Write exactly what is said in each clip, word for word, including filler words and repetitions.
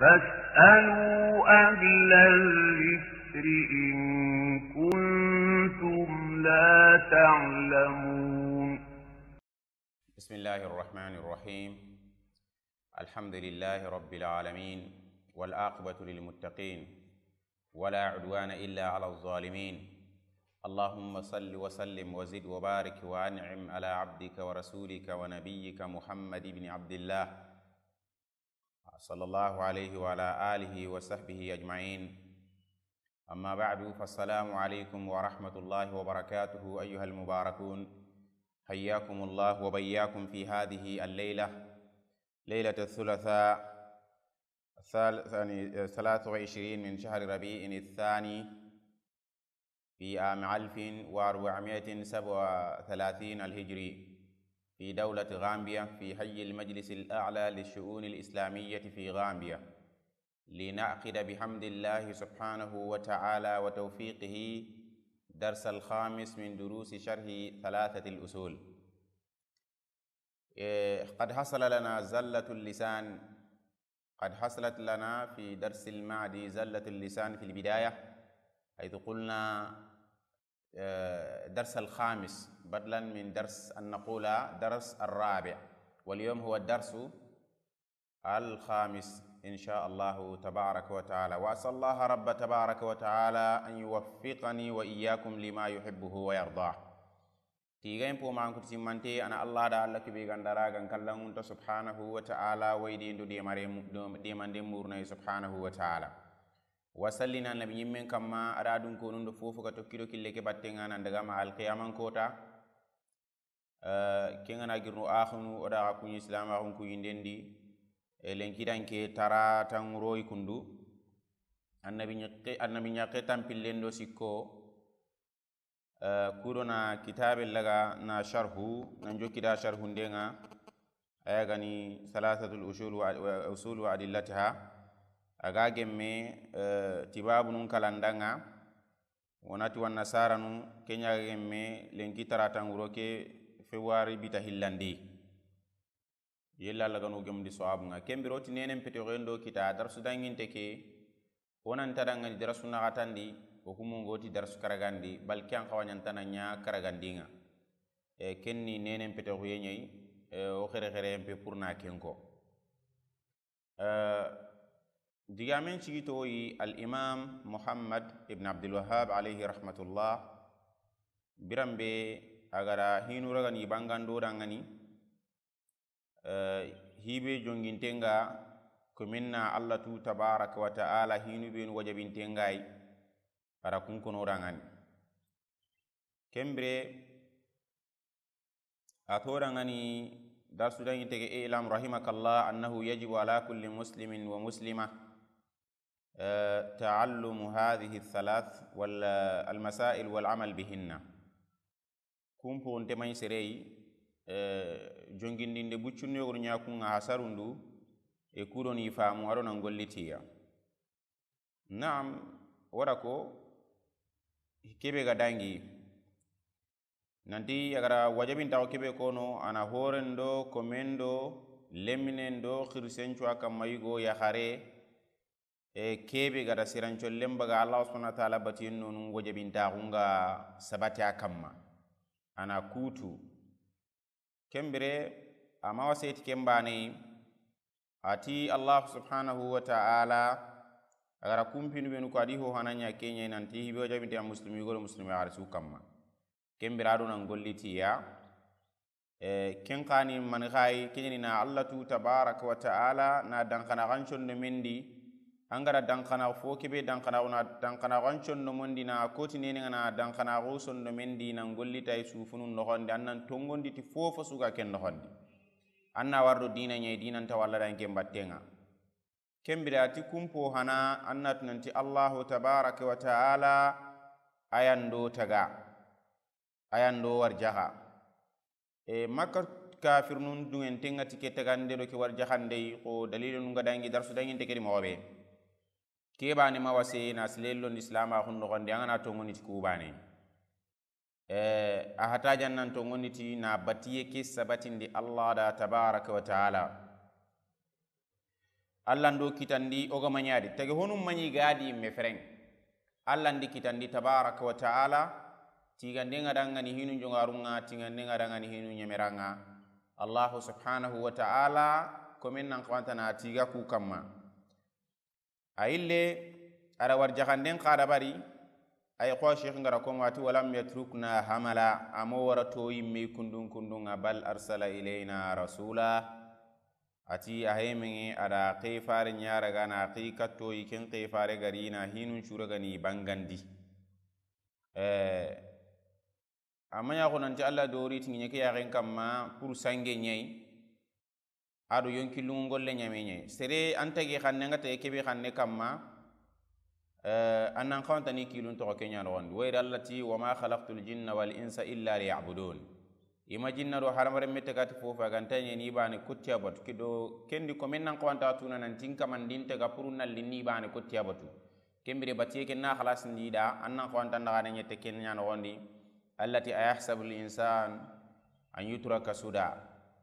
فاسألوا أهل الذكر إن كنتم لا تعلمون. بسم الله الرحمن الرحيم. الحمد لله رب العالمين، والعاقبة للمتقين، ولا عدوان إلا على الظالمين. اللهم صل وسلم وزد وبارك وأنعم على عبدك ورسولك ونبيك محمد بن عبد الله، صلى الله عليه وعلى آله وصحبه أجمعين. أما بعد، فالسلام عليكم ورحمة الله وبركاته أيها المباركون. حياكم الله وبياكم في هذه الليلة، ليلة الثلاثاء، ثال-، ثاني، ثلاثة وعشرين من شهر ربيع الثاني، في عام ألف وأربعمائة وسبعة وثلاثين الهجري، في دولة غامبيا، في حي المجلس الأعلى للشؤون الإسلامية في غامبيا، لنعقد بحمد الله سبحانه وتعالى وتوفيقه درس الخامس من دروس شرح ثلاثة الأصول. إيه، قد حصل لنا زلة اللسان، قد حصلت لنا في درس الماضي زلة اللسان في البداية، حيث قلنا، آه، درس الخامس بدلا من درس، أن نقول درس الرابع، واليوم هو الدرس الخامس إن شاء الله تبارك وتعالى. وأسأل الله رب تبارك وتعالى أن يوفقني وإياكم لما يحبه ويرضاه. Tigayen po ma an kuti simmante, a na Allah da Allah kebe gandara gan kallangunta subhanahu wa ta'ala, wayde ndo demare mu-, do-, demande murnayi subhanahu wa ta'ala. Wa sallina annabi ñimmen kamma, a da dun konun do fofo ga tokki do kille ke batten ŋa nan daga ma alqiyaman kota. Eh, ken ga na girnu axunu, o da ga kuñi islam axun kuñi ndendi. E, lenkidan ke tara tan royi kundu. Annabi ñakke, annabi ñakke tampillen do sikko. Eh, kudo na kitabe laga na sharhu, nan jokki da sharhu ndenga, aya gani Thalathatul Usul wa, wa, Usul wa Adillatiha, a ga gemme, eh, tibabunun kalandanga, wonati wa nasaranu, kenya ga gemme, lenki taratan wuro ke, fewari bita hillandi. Yella Allah gano gemundi sawabunga. Ken biro ti nenen pete xoyen do kita, darsu danginte ke, o nan ta dangani darsu naxatandi, o kumungo ti darsu karagandi, bal ke an xawañantana ña karagandinga. E, ken ni nenen pete xoye ñayi, e, o xere xere en pe pour na ken ko. E, digamen cigitoyi al imam Muhammad ibn Abdul Wahhab alayhi rahmatullah, biranbe a gara hinu ragani bangando dangani, Eh, hibe jongintenga, kominna Allah tu tabaraka wa ta'ala hinu benu wajabintengai, ara kun kono rangani. Kembire, a to rangani, darsu dangi tege, اعلم رحمك الله أنه يجب على كل مسلم ومسلمة, eh, تعلم هذه الثلاث وال-، المسائل والعمل بهن. Kun poxunte maɲi sereyi, eh, jongindinde buccunnu yogono ɲa kun ŋa hasarundu, e kudoni famu ado nan gollitiya. Naam, wara ko, kebe ga dangi. Nanti a gara wajabintaxu kebe kono, a na horendo, komendo, leminendo, xirisencu a kamma yigo, yaxare, E, kebe gada sirancollen baga Allah subhanahu wa ta'ala batiyen nonu wajabintaxun ga sabati a kamma. A na kutu. Kembire, a ma waseti ken bane, a ti Allah subhanahu wa ta'ala, a gara kumpinu benu ko a di ho hana ɲa ke ɲa nanti hibe wajabinte a muslimi goro muslimi yaxare su kamma. Ken bira do nan gollitiya. Eh, ken xani mani xayi, ken ɲa ni na Allah tu tabaraka wa ta'ala na danxana xan condo mendi. An gara danxana fo kebe danxana, na danxana xan condo mendi na koti nene ŋa na danxana xo sondo mendi nan gollitay sufunu noxondi, an nan tongondi ti fofo suga ken noxondi. An na wardo dina ɲayi, dinan ta walla dan ken battenga. Kembire a ti kumpo hana, an na tunanti Allahu tabaraka wa ta'ala, ayando taga, ayando warjaxa. E, Makka kafirnun dungen tenga ti ke tagande do ke warjaxande yi, ko dalilun ga dangi darsu danginte ke di moxo be. Ke bane ma wase na silelon di silama xun noxondi, an ga na tongoni ti ku bane. Eh, a hata jannan to ŋondi ti na batiye ke sabatindi Allah da tabaraka wa ta'ala. Alla ndo kitandi o ga maɲadi tege honum maɲi gadi me fereng. Alla ndi kitandi tabaraka wa taala. Tigande nga dangani hinu jongarunga, tigande nga dangani hinu ɲemeranga. Allahu subhanahu wa taala komen nan xawantana tiga ku kamma. A yille, a da warjaxanden xa dabari. Ay xo Cheikh ngara komo ati walam yatrukna hamala, amo wara to yimme kundun kundunga, bal arsala ilayna rasula. Ati a hemeŋe a da xefare ɲaragana xi kattoyi ken xefare garina hinun curagani bangandi. Eh, amma yaxo nanti Alla dori tiŋiɲe ke yaxen kamma pour sange ɲayi. Ado yonki lungu golle ɲame ɲayi sere an tagi xanne nga tagi kebe xanne kamma. Eh, an nan xawantani kilun toxo ke ɲa noxondi. Wayri Alla ti, "Wa ma khalaqtul jinna wal insa illa liya'budun." I ma jinna do hadamaren me tagati fofo a ganta ɲeni bane kuttiya batu. Kido kendi komen nan xawanta tuna nanti n kamandin taga puru nalli ni bane kuttiya batu. Kembire batiye ken na xalasindi da an nan xawanta ndaxane ɲette ken ɲa noxondi. Alla ti, "Ayahsabul insan an yutraka suda."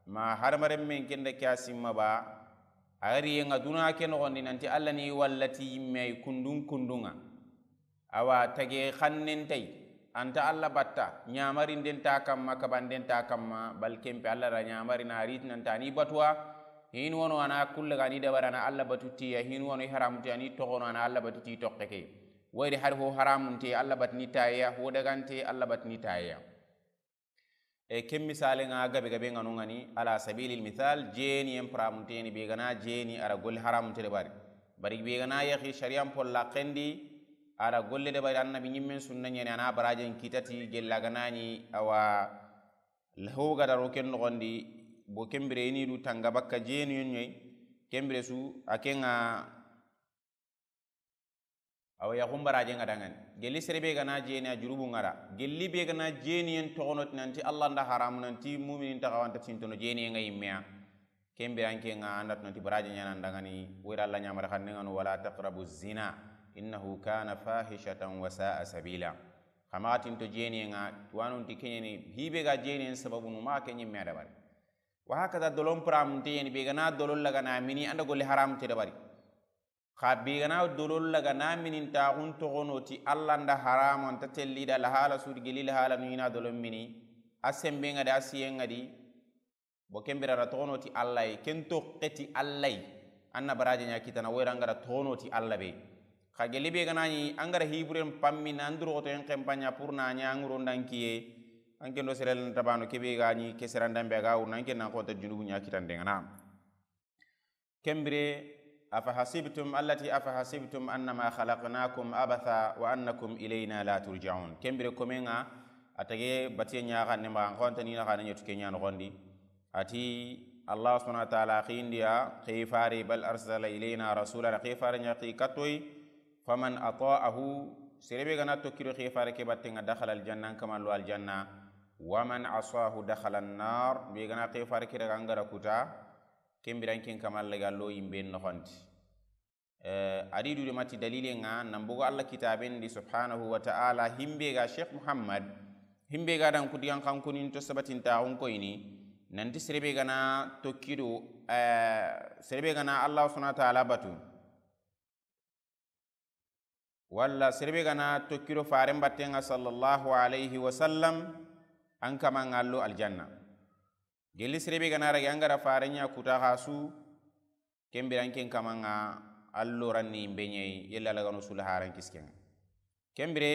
Ma hadamaren men kenda ke a simma ba, a gari yenga duna ke noxondi nanti Alla ni wallati yimme ay kundun kundunga. Awa tage xannen tay, anta Alla batta, ɲamarinden ta kamma, kabanden ta kamma, bal kempe Alla da ɲamari na rit nanta ni batuwa. Hin wono ana kulle gani dabara na Alla batuti ya, hin wono haramuti ani toxono ana Alla batuti toxeke. Wayri har ho haramunte Alla batni tayeya, ho dagante Alla batni tayeya. E ken misale nga gabe gabe nga no ngani, ala sabilil misal, jeni en pramunte ni be gana jeni ara golle haramunte de bari. Bari be gana yaxi shari'an polla kendi ara golle de bari, annabi ɲimmen sunna ɲani ana barajen kitati gella ganani awa. Laho gada ro ken noxondi, bo kembire ini du tanga bakka jeni yon ɲoy. Kembire su a kenga. Awa yaxun baraje nga dangani. Gelli sere be gana jeni a jurubu ngara. Gelli be gana jeni yen toxono ti nanti Allah nda haramu, nanti muminin taxawanta tintono jeni nga yimmeya. Kembire anke nga anda tu nanti baraje ɲana ndangani. Wira Allah ɲamara xanne ngano, "Wala taqrabu zina, innahu kana fahishatan wa sa'a sabila." Xama tinto jeni nga, wanun ti kenyeni hibe ga jeni sababunu ma kenyi me adabari. Wa hakaza dolon pramunte yeni be gana dolon lagana mini anda golle haramunte dabari. Xa be gana dolon lagana mini ntaxun toxono ti Allah nda haramu anta telli da lahala sudi geli lahala nu ina dolon mini. A sembe nga di, a siye nga di. Bo kembire ra toxono ti Allah yi, ken toxe ti Allah yi. Anna baraje ɲa kitana wera ngara toxono ti Allah be. Xa geli be gana ni angara hiburen pammi na anduru xoto en kempanya pour na ɲa nguro ndankiye. Anke ndo serel tabano kebe ga ni ke serandambe ga wurna anke na xonta junubu ɲa kitande ngana. Kembire, afa hasibtum, Allah ti, "Afa hasibtum annama khalaqnakum abatha wa annakum ilayna la turja'un." Kembire komenga, a tage batiye ɲaxa ne ma, xonta ni na xana ɲetu kenya no gondi. Ati Allah subhanahu wa ta'ala xindiya, "Xifari bal arsala ilayna rasula," xifari ɲa xi katoy, "Faman ata'ahu," serebe gana tokkido xifari ke battenga, "dakhala aljanna," an kamallo aljanna, "wa man asahu dakhala annar," be gana xifari ke daga angara kuta, Kembiran ken kamal ga lo yimbe noxonti. Eh, adi du de mati dalile nga, nan bogo Allah kitaben di subhanahu wa ta'ala, himbe ga Sheikh Muhammad, himbe ga dan kudigan kankunin to sabatin ta on koyni, nanti serebe gana tokkido, eh, serebe gana Allah subhanahu wa ta'ala batu. Walla serebe gana tokkiro faren battenga sallallahu alayhi wa sallam, an kama ngallo aljanna. Gelli serebe gana rage angara faren ɲa kuta xasu, kembiran ken kama nga allo ranni imbe ɲeyi, yella lagano sula haran kiskenga. Kembire,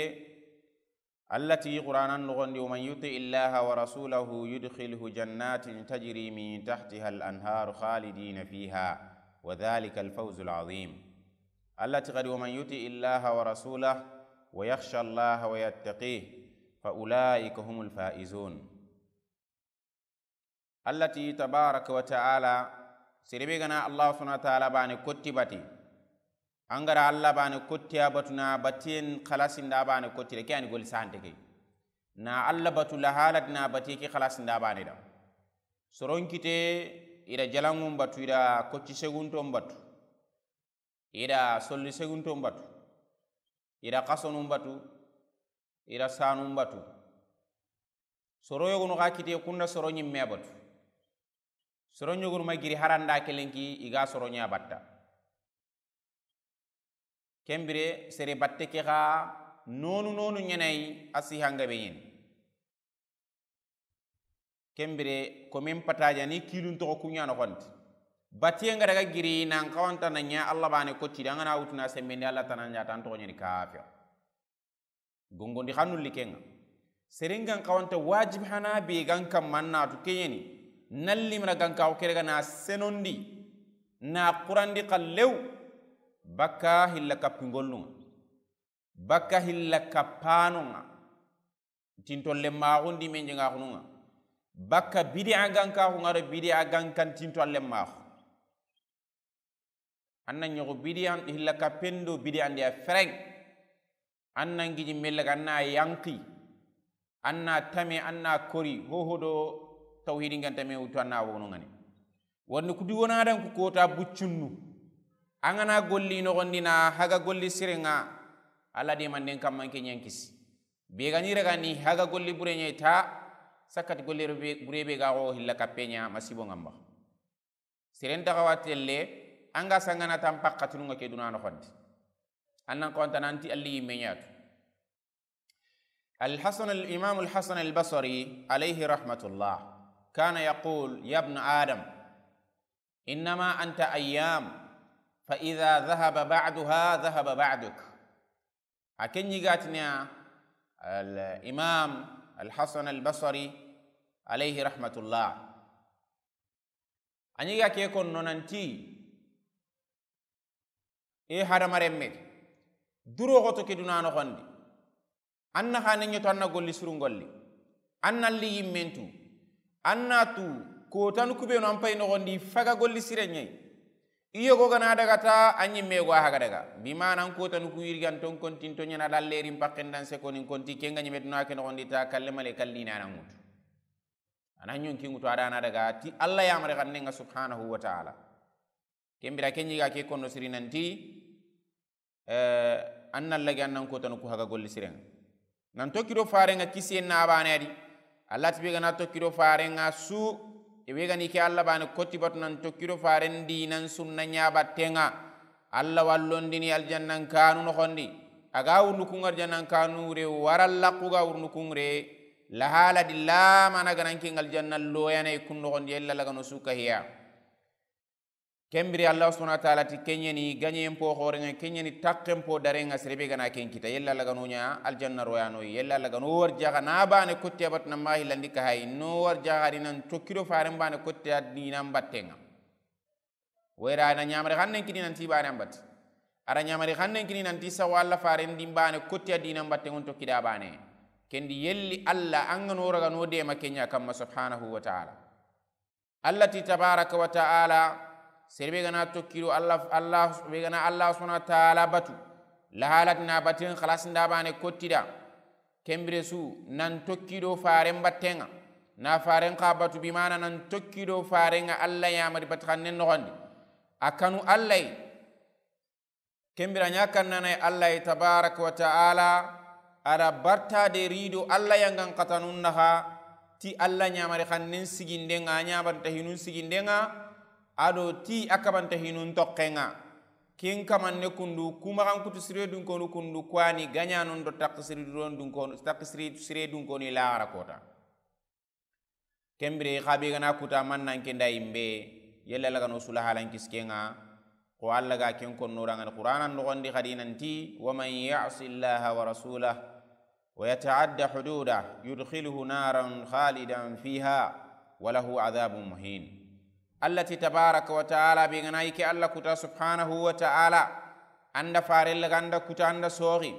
Allah ti Qur'anan noxondi, "Wa man yuti illaha wa rasulahu yudkhilhu jannatin tajri min tahtiha al-anharu khalidina fiha, wa dhalika al-fawzu al-azim." Allah ti kadi, "Wa man yuti illaha wa rasulahu wa yakhsha Allaha wa yattaqih, fa ulaika humul faizun." Allah ti tabaraka wa ta'ala, serebe gana Allah subhanahu wa ta'ala bane kotti bati. Angara Allah bane kotti a batu na batiyen xalasinda bane kotti de, ke ani gol sante ke. Na Allah batu lahalat na batiye ke xalasinda bane da. Soron kite ida jalangun batu, ida kocci segunton batu. Ida solli segunton batu, ida kasonun batu, ida sanun batu. Soro yogonu xa kite kunda soro ɲimme batu. Soro ɲogonu ma giri haranda kelenki iga soro ɲa batta. Ken bire sere batte ke xa nonu nonu ɲa na yi, a si hanga be ɲeni. Ken bire komen pataja ni kilun toxo ku ɲa noxondi. Batiye nga daga giri nan xawanta na ɲa Allah bane kotidi, an ga na wutuna sembendi Allah tana ɲa tan toxo ɲeni kafir. Gongondi xannu likenga. Serengan xawanta wajib hana be gan kamma natu keɲeni. Nallimra gan kawo kere ga na senondi. Na qurandi xallew. Bakka hilla kappingollunga. Bakka hilla kappanonga. Tinto lemmaxundi men jenga xununga. Bakka bidi'a gan kaxunga do bidi'a gan kan tinto a lemmaxu. An na ɲogo bidi'an hilla kappendo bidi'andi a fereng. An na ngiji mellaga an na yanki. An na tame an na kori hoho do tawhidi ngan tame wutu an na wono ngani. Wonni kudi wona dan ku kota buccunnu. An ga na golli noxondi na haga golli sirenga. Alla de manden kamman ke ɲankisi. Be gani raga ni haga golli bure ɲa ta. Sakkati golli bure be ga xo hilla kappe ɲa masibo ngamba. Siren taxawa telle, an ga sangana tan pakkatununga ke duna noxondi. An nan xawanta nanti alli yimme ɲatu. الحسن، الإمام الحسن البصري عليه رحمة الله كان يقول: يا ابن آدم، إنما أنت أيام، فإذا ذهب بعضها ذهب بعضك. A ken ɲi ga tini ya, al imam al Hasan al Basri, alayhi rahmatullah. A ɲi ga ke konno nanti, e hadamarenme, duro xoto ke duna noxondi. An na xane ɲoto, an na golli surun golli. An na li yimmentu. An na tu kotanu kubenu an pay noxondi faga golli sire ɲayi. I yogo gana daga ta, a ɲimme yogo a haga daga. Bi mana an kotanu ku yirgan ton kontin to ɲana dallerin pakken dan sekonin konti kenga ɲime duna ke noxondi ta kalle male kalli na na ŋutu. A na ɲonki ŋutu a da na daga ti Alla yamare xannenga subhanahu wa ta'ala. Ken bira ken ɲi ga ke konno siri nanti, eh, an na lagi an nan kotanu ku haga golli sirenga. Nan tokki do farenga kisiyen na bane adi. Alla ti be gana tokki do farenga su, e be gani ke Alla bane koti batu nan tokki do faren di nan sunna ɲa battenga. Alla wallondini aljannan kanu noxondi. A ga wurnu kun aljannan kanu re, wara laxu ga wurnu kun re. Lahala di lamana ganan ken aljanna loyana i kun noxondi, ella lagano su kahiya. Ken biri Allah subhanahu wa ta'ala ti kenyeni ganyen po xorenga, kenyeni takken po darenga, serebe gana ken kita, yella lagano ɲa aljanna royano, yella lagano warjaga na bane kotte abat na ma hilandi ka hay, no warjaga di nan tokki do faren bane kotte a dinan battenga. Wera na ɲamare xannen kini nanti bane ambat. Ara ɲamare xannen kini nanti sawa Allah faren din bane kotte a dinan battenga on tokki da bane. Kendi yelli Allah an ga no raga no de ma kenya kamma subhanahu wa ta'ala. Allah ti tabaraka wa ta'ala, serebe gana tokki do Allah, Allah, be gana Allah subhanahu wa ta'ala batu, lahalat na batin khalas nda bane kottida. Ken bire su nan tokki do faren battenga, na faren xa batu, bi mana nan tokki do farenga Allah yamari bat xannen noxondi. A kanu Allah yi. Ken bira ɲa kannana Allah tabaraka wa ta'ala, a da barta de rido Allah yangan katanun naxa, ti Allah ɲamari xannen sigindenga, a ɲabanta hinun sigindenga, a do ti a kabanta hinun tokkenga. Ken kamanne kundu, kuma xan kutu sire dunkonu kundu, kwani gaɲanun do takki sire dunkonu, takki sire dunkonu i laxara kota. Ken bire xa be gana kuta mannan ken da yimbe, yella lagano sula halan kiskenga. Ko Allah ga ken konno rangani Qur'anan noxondi xadi nanti: ومن يعص الله ورسوله ويتعد حدوده يدخله نارا خالدا فيها وله عذاب مهين. Allah ti tabaraka wa ta'ala, be gana yike Allah kuta subhanahu wa ta'ala, anda farella ganda kuta anda soxi.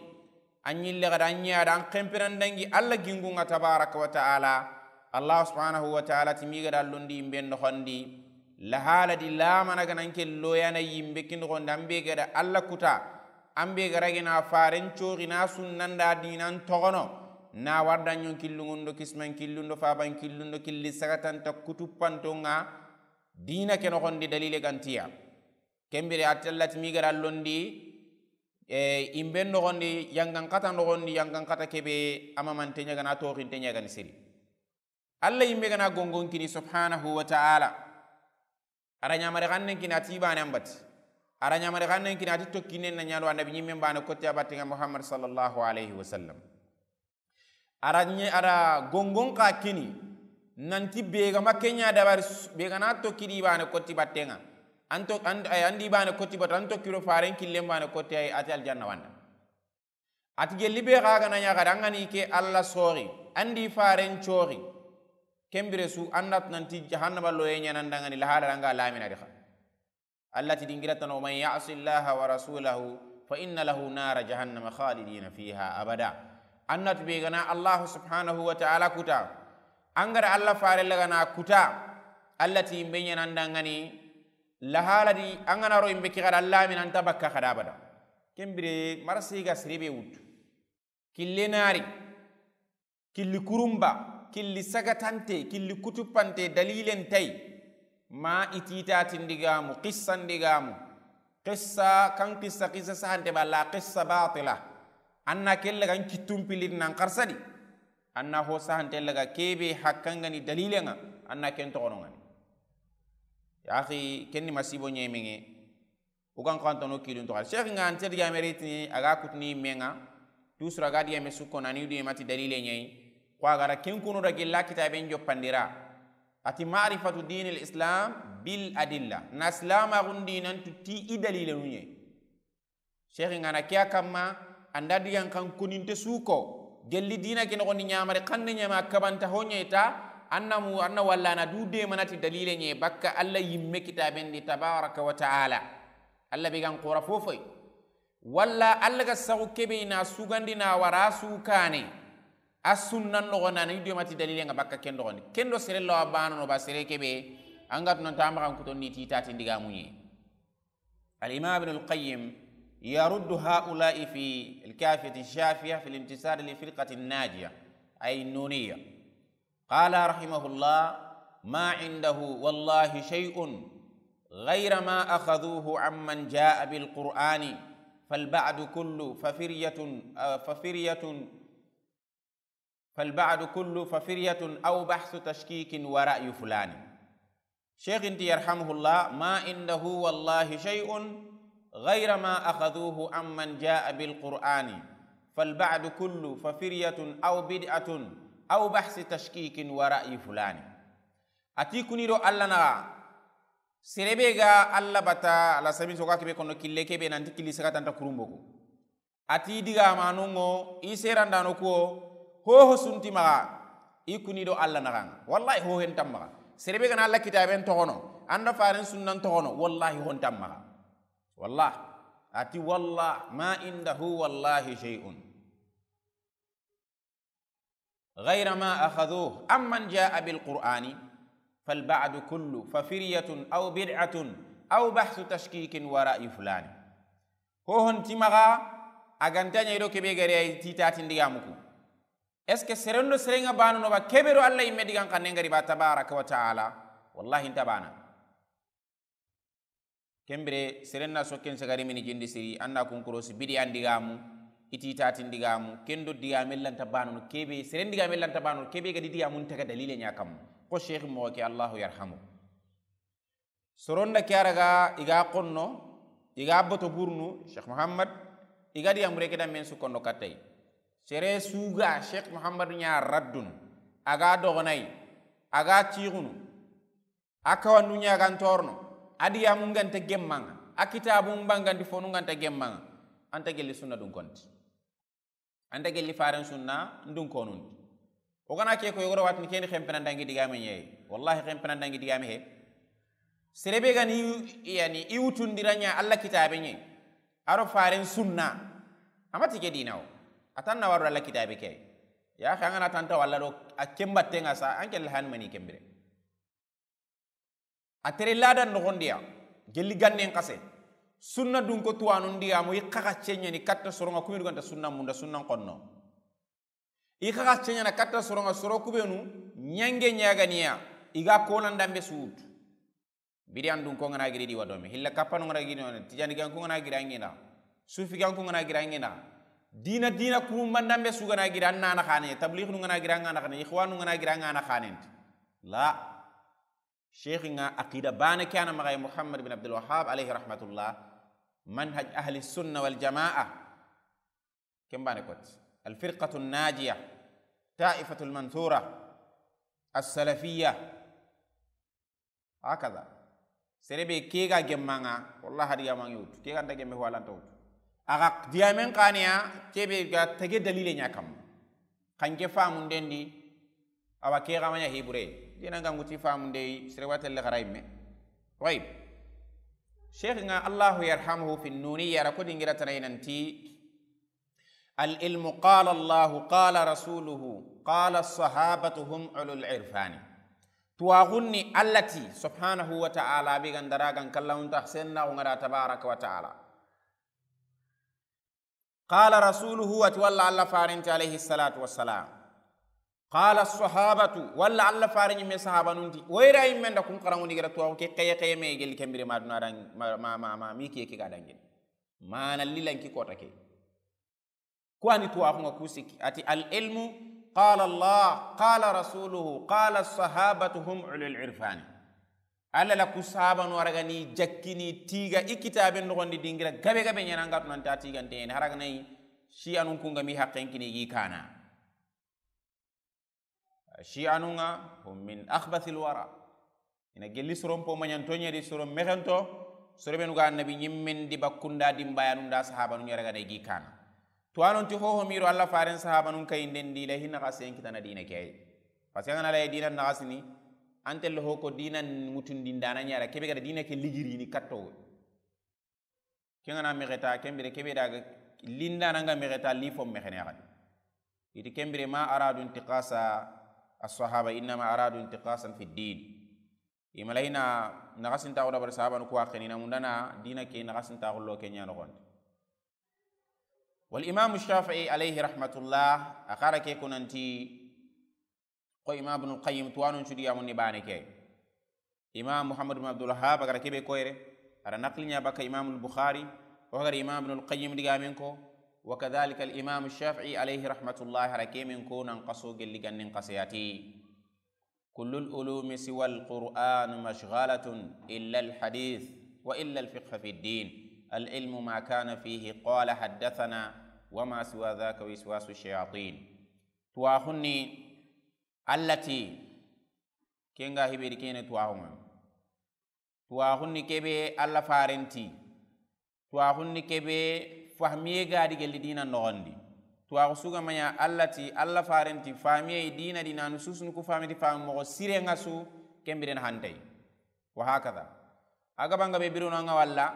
An yille gada an ɲa da an kempiran dangi Allah gingunga tabaraka wa ta'ala. Allah subhanahu wa ta'ala ti mi gada londi yimbe noxondi, lahala di lamana ganan ke loyana yimbe kin noxondi, an be gada Allah kuta, an be gara gina faren coxi na sunnanda dinan toxono, na warda ɲon killungundo kisman killundo faban killundo killi sagatanta kutupantonga, dina ke noxondi dalile gantiya. Ken bire a ti Allah ti mi gada londi, e, imben noxondi, yangan kata noxondi, yangan kata kebe, ama mante ɲagana, toxinte ɲagani siri. Allah yimbe gana gongon kini subhanahu wa ta'ala. Ara ɲamare xannen kini a ti bane ambati. A ra ɲamari xannen kini a ti tokkinen na ɲa do annabi ɲimmen baane kotti a batten ŋa Muhammad sallallahu alayhi wa sallam. A ra ɲe-, a ra gongon xa kini nanti be ga ma ke ɲa dabari su-, be ga na tokki di baane kotti batten ŋa. An to-, an, ay, an di baane kotti batte, an tokki do faren killen baane kotti, ay, a ti aljanna wa an da. A ti gelli be xa ga na ɲa xadi an ga ni ke Alla sori, an di faren cori. Ken bire su an da tu nanti jahannama loye ɲa na an da ŋa ni lahala ra an ga lamina di xa. Alla ti dingira tano, "Man ya'si Allaha wa rasulahu fa inna lahu nara jahannama khalidina fiha abada." An na tu be ga na Allahu subhanahu wa ta'ala kuta, an ga ra Alla fare laga na kuta, Alla ti yimbe ɲa na an da ŋa ni lahala di, an ga na ro yimbe ke xadi Alla min an ta bakka xadi abada. Ken bire marasi ga siri be wutu. Kille nari, killi kurumba, killi sagatante, killi kutupante, dalilen tay. Ma i ti ta ti ndigamu, qissa ndigamu. Qissa, kan qissa, qissa sahante balla, qissa batila. An na kelle kan kittum pilin nan xarsadi. An na ho sahante laga kebe hakkan ga ni dalilen ŋa, an na ken toxono ŋa ni. Ya akhi, ken ni masibo ɲemeŋe. O gan xantano kilun toxo. Cheikh ŋa an ti digame ritini, a ga kutuni me ŋa, tusura ga digame sukko na ni du mati dalile ɲa yi. Ko a ga ra ken kunu da gilla kitaben joppandira. A ti ma'rifatu dinil islam bil adilla. Na islama gundi nan tu ti i dalile nu ɲa yi. Cheikh ŋa na kiya kamma, an da digan kan kuninte suko. Gelli dina ke noxondi ɲamari xanne ɲama kabanta ho ɲa yi ta, an na mu, an na walla na du de manati dalile ɲa yi bakka Alla yimme kitaben di tabaraka wa ta'ala. Alla be gan xora fofoy. Walla Alla ga saxu kebe na sugandi na wara su kane. A sunnan noxo na ni du mati dalile ŋa bakka ken noxondi. Ken do sere lawa bano no ba sere kebe. An ga tu nan ta maxan kuton ni ti ta ti ndigamu ɲa yi. Al-Imam Ibn al-Qayyim yaruddu ha'ula'i fi al-Kafiyati Shafiya fi al-intisar li firqati an-najiya, ay an-Nuniyya. Qala rahimahullah, "Ma indahu wallahi shay'un ghayra ma akhadhuhu amman ja'a bil Qur'ani, fal ba'du kullu fa firyatun, ah, fa firyatun, fal ba'du kullu fa firyatun aw bahsu tashkikin wa ra'yu fulani." Cheikh inti yarhamuhullah, "Ma indahu wallahi shay'un ghayra ma akhadhuhu amman ja'a bil Qur'ani, fal ba'du kullu fa firyatun aw bid'atun aw bahsi tashkikin wa ra'yi fulani." A ti kuni do Alla naxa, sere be ga Alla bata, Alla sami soga kebe kono kille kebe nanti killi sagatanta kurumboku. A ti digamanun ŋo, i serandano kuwo, hoho sunti maxa, i kuni do Alla naxan ŋa. Wallahi hohen tam maxa. Sere be ga na Alla kitaben toxono, an da faren sunnan toxono, wallahi hon tam maxa. Wallah. A ti wallah, ma indahu wallahi shay'un. Ghayra ma akhadhuhu amman ja'a bil Qur'ani, fal ba'du kullu fa firyatun aw bid'atun aw bahsu tashkikin wa ra'yi fulani. Hohon ti maxa, a ga nta ɲa yi do kebe gare ay ti ta ti ndigamu ku. Est-ce que seren do seren ŋa bano no ba kebe do Alla yimme digan xannen ga ri ba tabaraka wa ta'ala? Wallahi nta bana. Ken bire, seren na sokken sagari mini jindi siri, an na kun korosi bidi an digamu, i ti ta ti ndigamu, ken do digame lanta bano no kebe, seren digame lanta bano no kebe ga di digamu nta ga dalile ɲa kam. Ko Cheikh moxo ke, Allahu yarhamu. Soronda ke a raga, i ga xonno, i ga boto burnu, Cheikh Muhammad, i ga diga mure ke da men su kondo kattay. Sere suga Cheikh Muhammad ɲa raddun, a ga dogonay, a ga tixunu, a kawandu ɲa ga ntorno, a diga mun ga nta gemmaŋa, a kitabun bangandi fonu ga nta gemmaŋa, anta gelli sunna dun konti. Anta gelli faren sunna ndun konundi. O gana ke ko yogoro watni keni xempena dangi digame ɲeyi. Wallahi xempena dangi digame he. Serebe gani yani i wutundira ɲa Alla kitabe ɲe. Aro faren sunna. Amati ke dinawo. Atanna waro Alla kitabe ke. Ya xangana tanta walla do a kembatte nga sa anke lahan mani kembire. A tere ladan noxondiya, gelli gannen xase, sunna dun ko tuwanundiya mo i xaxa ceɲani katta soronga kumidu ganta sunna munda sunnan xonno. I xaxa ceɲana katta soronga soro kubenu ɲange ɲaganiya, i ga konan dambe suwut. Bidiyan dun ko ngana giri di wadome, hilla kappanu ngana giri wadome, tijani gan ko ngana giri angina, sufi gan ko ngana giri angina, dina, dina kurumban dambe su gana giri annana xane, tablighnu ngana giri angana xane, ikhwanu ngana giri angana xane. La. Sheikh nga aqida bane ke ana magay Muhammad bin Abdul Wahhab alayhi rahmatullah. Manhaj ahli sunna wal jamaa. Ken bane koti. Al firqatu najiya, taifatu al mansura, as salafiyya. Hakaza. Sere be ke ga gemma ŋa, wallahi hadi ga ma ŋa wutu. Ke ga nta gemme, ho a lanta wutu. A ga digamen xa ni ya, ke be ga tege dalile ɲa kamma. Xa nke famunden di, awa ke ga ma ɲa hibure. Dina nga ŋuti famunde yi, sere wa telle xara yimme. Tayib. Sheikh nga, Allahu yarhamuhu, fi Nuniyya ra ko dingira tana yi nanti, Al ilmu qala Allahu qala rasuluhu qala sahabatu hum ulul irfani. Tuwaxun ni Allah ti, subhanahu wa ta'ala, be ga ndara gan kallawunta senna ŋa da tabaraka wa ta'ala. Qala rasuluhu, a ti walla Allah farenti alayhi salatu wassalam. Qala sahabatu, walla Allah fare ɲimme sahabanun ti. Woyra yimme nda kun xaranŋundi ga da tuwaxu ke xeye xeye me gelli ken bire ma duna dan ma, ma, ma, ma, mi kiye ke ga dangini. Mana lilan ki kota ke. Ku ani tuwaxu ŋa ku sikki. A ti, al ilmu qala Allah, qala rasuluhu, qala sahabatu hum ulul irfani. Allah la ku sahabanu a ra ga ni jakkini tiga i kitaben noxondi dingira gabe gabe ɲana nga tunanta tigante yen. Hara ga nayi, shi anun kunga mi haqqen kini gi kana. Shi'anun ŋa, hum min akhbathil wara. Ina gelli soron po maɲanto ɲa di, soron mexento, soro benu ga annabi ɲimmen di bakkunda dimbayanun da sahabanun ɲa ra ga da i gi kana. Tuwanon ti hoho miro Allah faren sahabanun kayinden di la hinna xa sen kitana dina ke ay. Parce que an ga na la dina naxasini, an telle ho ko dina mutundindana ɲa ra, kebe ga da dina ke ligirini katto. Ken ga na mexeta, ken bire kebe da ga linda nanga mexeta, li fo mexene xadi. Iti ken bire ma aradu intiqasa as-sahaba, innama aradu intiqasan fi din. I ma la hina naxasintaxu dabari sahabanu ku wa xenina mundana dina ke naxasintaxu lo ke ɲa noxondi. Wal Imam Shafi'i alayhi rahmatullah, a xara ke kunanti, ko Imam Ibnul Qayyim tuwanun cudi yamun ni bane ke. Imam Muhammad bin Abdul Wahhab a ga ra kebe koyre, a ra naqli ɲa baka Imam al-Bukhari, o ga ra Imam Ibnul Qayyim digamen ko, wa kadhalika al-Imam Shafi'i alayhi rahmatullah, a ra kemen ko nan xaso gelli gannin xaseyati. Kullul ulumi siwa al-Qur'an mashghalatun illa al-hadith wa illa al-fiqh fi ad-din. Al-ilmu ma kana fihi qala haddathana wa ma siwa dhaka wiswasu shayatin. Tuwaxun ni Allah ti, ken ga hibe di kene tuwaxun ŋa. Tuwaxun ni kebe Allah farenti. Tuwaxun ni kebe fahmiye ga di gelli dina noxondi. Tuwaxu su ga ma ɲa Allah ti, Allah farenti, fahmiye dina dina nu susunu ku fahmiti fahmi moxo sire ŋa su, ken biren hantay. Wa hakaza. A ga banga be birono ŋa walla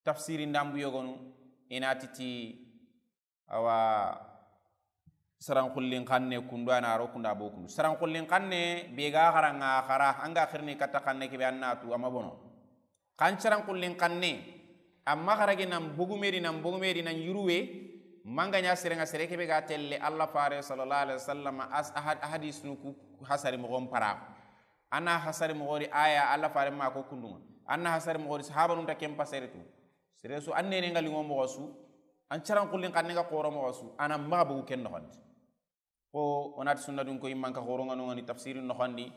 tafsiri ndambu yogonu, ina titi, awa, saran xullin xanne kundu ana ro kunda bo kundu. Saran xullin xanne be ga xara ŋa xara, an ga xirni katta xanne kebe annatu ama bono. Xan saran xullin xanne, amma xara ge nan bogumeri, nan bogumeri, nan yuruwe, manga ɲa sere ŋa sere kebe ga telle Allah fare sallallahu alayhi wasallam as-, ahad-, hadisunu ku hasari moxon para. Ana hasari moxo di aya Allah fare ma ko kundu ŋa. Ana hasari moxo di sahabanun ta ken pasere tu. Sere su an nene nga liŋo moxo su, an saran xullin xanne nga xoro moxo su, ana maxa bogu ken noxondi. Ko o na ti sunna dun ko yimman ka xoro nga no nga ni tafsirin noxondi.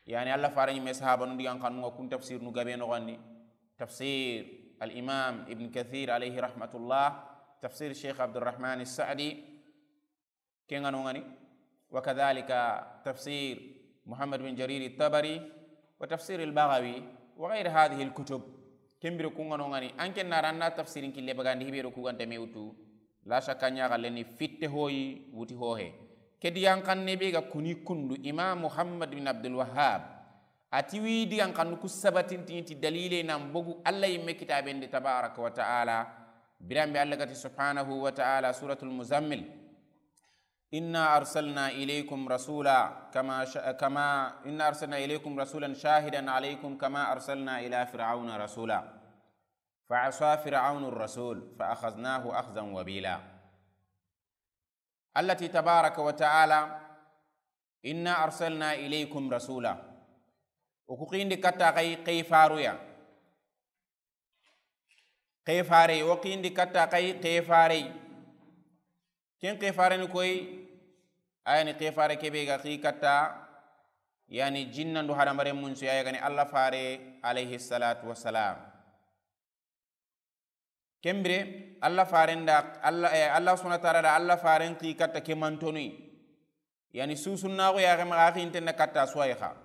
Yani Allah fare ɲimme sahabanun digan xannu nga kun tafsirinu gabe noxondi. Tafsir al Imam Ibn Kathir alayhi rahmatullah, tafsir Sheikh Abdurrahman As-Sa'di, ken ga no nga ni, wa kadhalika tafsir Muhammad bin Jarir At-Tabari, wa tafsir Al-Baghawi, wa ghayr hadhihi al-kutub. Ken bire kun ga no nga ni, an ken na ranna tafsirin kille bagandi hibe do ku ganta me wutu. La shakka ɲa galle ni fitte hoyi wuti hohe. Ke digan xanne be ga kuni kundu Imam Muhammad bin Abdul Wahhab. A ti wi digan xannu ku sabatinti ti dalile nan bogu Allah yimme kitaben di tabaraka wa ta'ala. Biran be Allah ga ti subhanahu wa ta'ala, Suratul Muzammil. إنا أرسلنا إليكم رسولا كما ش-، كما، إنا أرسلنا إليكم رسولا شاهدا عليكم كما أرسلنا إلى فرعون رسولا فعصى فرعون الرسول فأخذناه أخذا وبيلا. Allah ti tabaraka wa ta'ala, إنا أرسلنا إليكم رسولا. O ku xindi katta xa yi, xa yi faruya. Xa yi fare, o xindi katta xa yi, xa yi fare. Ken xa yi fare ni koy, a yani xa yi fare kebe ga xa yi katta, yani jinnan do hadamaren mun su ya ga ni Allah fare alayhi salatu wassalam. Ken bire, Allah faren da, Allah, eh, Allah subhanahu wa ta'ala da Allah faren xi katta ke mantonuyi. Yani susunnaxu yaxe maxa a xinten da katta suwayi xa.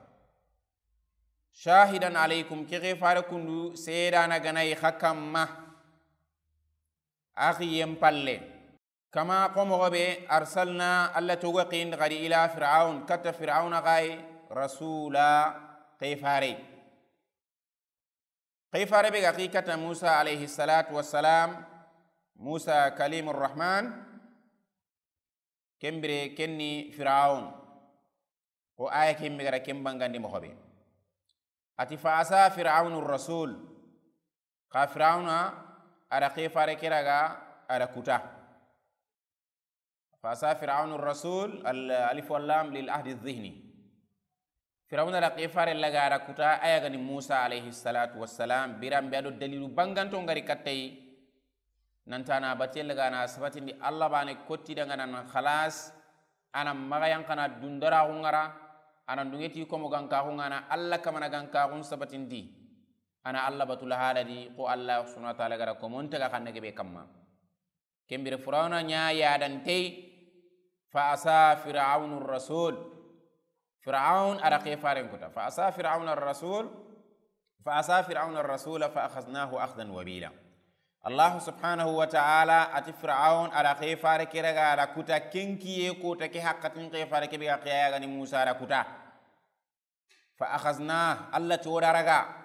Shahidan alaykum, ke xifare kundu seedana ga na yi xa kamma. A xiyen palle. Kama xo moxo be arsalna, Allah togo xindi xadi ila Fir'aun, katta Fir'auna xa yi, rasula, xifare. Xifare be ga xi katta Musa alayhi salatu wassalam, Musa kalimur Rahman, ken bire ken ni Fir'aun. Xo aya ken be ga ra ken bangandi moxo be. A ti fa asa Fir'aunu rasul. Xa Fir'auna a da xifare ke raga a da kuta. Fa asa Fir'aunu rasul, al-, alif wal lam lil ahdi zihni. Fir'auna da xifare laga a da kuta, a ya ga ni Musa alayhi salatu wassalam, biran be a do dalilu banganto ngari katta yi. Nanta na batiye laga na sabatindi Allah bane kotti dangana nan khalas, ana maxa yanqana dundara xungara, ana dungeti komo ganka xungana Allah kamana ganka xun sabatindi. Ana Allah batu la haladi, xo Allah subhanahu wa ta'ala ga ra komo nta ga xanne ke be kamma. Ken bire Fir'auna ɲa yadantey, fa asa Fir'aunu rasul. Fir'aun a da xifaren kuta. Fa asa Fir'auna rasul, fa asa Fir'auna rasula fa akhadnahu akhdan wabila. Allah subhanahu wa ta'ala a ti Fir'aun a da xifare ke raga a da kuta, ken kiye kota ke haqqatin xifare ke be ga xiya ya ga ni Musa a da kuta. Fa akhadna, Allah ti o da raga.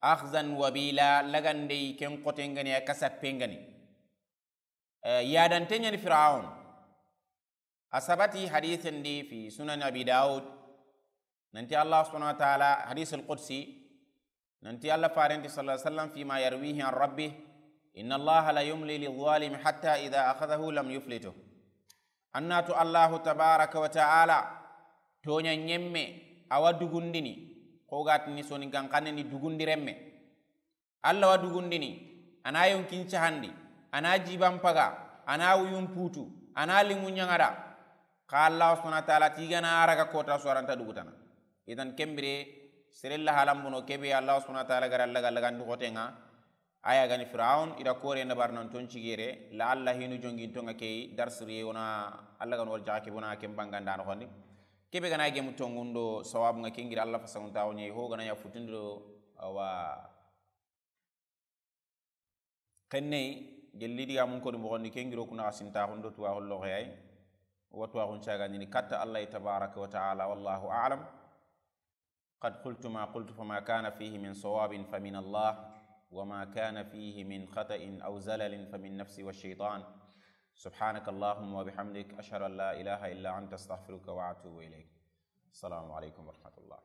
Akhzan wabila, lagandey ken xoten ga ni, a kasappen ga ni. Eh, yadante ɲani Fir'aun. A sabati hadithen di fi Sunan Abi Daud. Nanti Allah subhanahu wa ta'ala, hadith al-qudsi. Nanti Allah farenti sallallahu alayhi wasallam fima yarwihi an rabbih, inna Allah la yumli lidh-dhalimi hatta idha akhadhahu lam yuflituh. Annatu Allahu tabaraka wa ta'ala, toɲa ɲemme, a wa dugundini, xo ga tini soni ganxanne ni dugundi remme. Allah wa dugundini, a na yonkin cahandi, a na jiban paga, a na wuyun putu, a na limu ɲaŋada. Xa Allah subhanahu wa ta'ala ti ga na a raga kota su a ra nta dugutana. Idan ken bire, sere la halan bono ke be Allah subhanahu wa ta'ala ga ra laga lagandi xotenŋa, a ya ga ni Fir'aun, i da kore na bar nan ton cigere, la Allah hinu jongintonŋa ke yi, darsiriye wona Allah ga no wal jaxa ke bona ken banganda no xondi. Ke be ga na gemu tongundo sawabunŋa ken giri Allah fasangunta woni ho ga na ya futundo awa. Xenney, gelli diga mun koni moxondi, ken giro kuna xa sinta xundo tuwa xullo xeyay. Wa tuwa xun cagandini katta Allah tabaraka wa ta'ala, wallahu a'lam. قد قلت ما قلت، فما كان فيه من صواب فمن الله، وما كان فيه من خطأ أو زلل فمن نفسي والشيطان. سبحانك اللهم وبحمدك، أشهد أن لا إله إلا أنت، أستغفرك وأتوب إليك. السلام عليكم ورحمة الله.